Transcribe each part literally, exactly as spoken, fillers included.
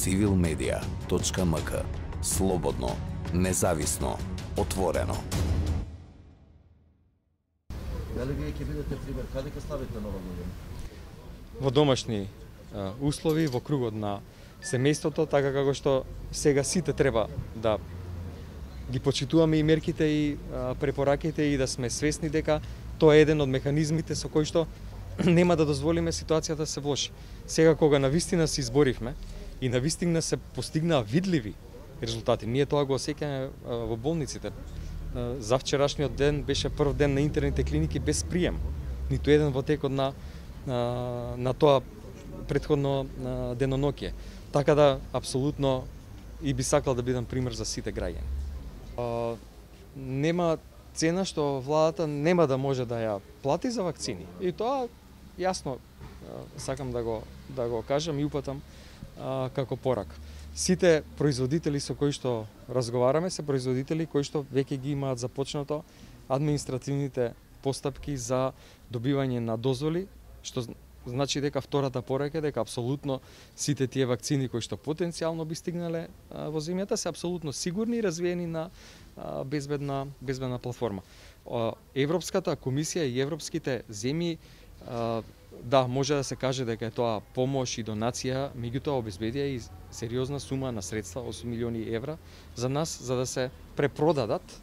цивил медија точка ем ка. Слободно, независно, отворено. Дали вие ќе бидете пример, каде ќе ставите нова година? Во домашни а, услови, во кругот на семејството, така како што сега сите треба да ги почитуваме и мерките и а, препораките и да сме свесни дека тоа е еден од механизмите со кој што нема да дозволиме ситуацијата да се влоши. Сега кога навистина се изборивме и навистина се постигнаа видливи резултати, ние тоа го осеќаме во болниците. За вчерашниот ден беше прв ден на интерните клиники без прием. Ниту еден во текот на на, на тоа претходно деноноќе. Така да апсолутно и би сакал да бидам пример за сите граѓани. Нема цена што владата нема да може да ја плати за вакцини. И тоа јасно сакам да го да го кажам и упатам а, како порак. Сите производители со кои што разговараме се производители кои што веќе ги имаат започнато административните постапки за добивање на дозволи, што значи дека втората порака е дека апсолутно сите тие вакцини кои што потенцијално би стигнале а, во земјата се апсолутно сигурни и развиени на а, безбедна безбедна платформа. А, Европската комисија и европските земји а, да, може да се каже дека е тоа помош и донација, меѓутоа обезбедија и сериозна сума на средства, осум милиони евра, за нас, за да се препродадат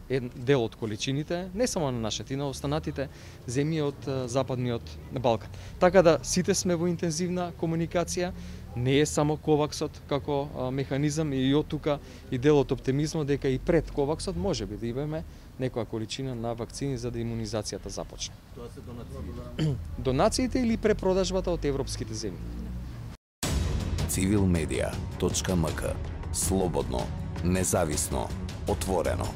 еден дел од количините, не само на нашите, и на останатите земји од Западниот Балкан. Така да сите сме во интензивна комуникација, не е само коваксот како а, механизам и од тука и дел од оптимизмот дека и пред коваксот може би да имаме некоја количина на вакцини за да имунизацијата започне. Тоа се донации. Донациите или препродажбата од европските земји. цивил медија точка ем ка. Слободно, независно, отворено.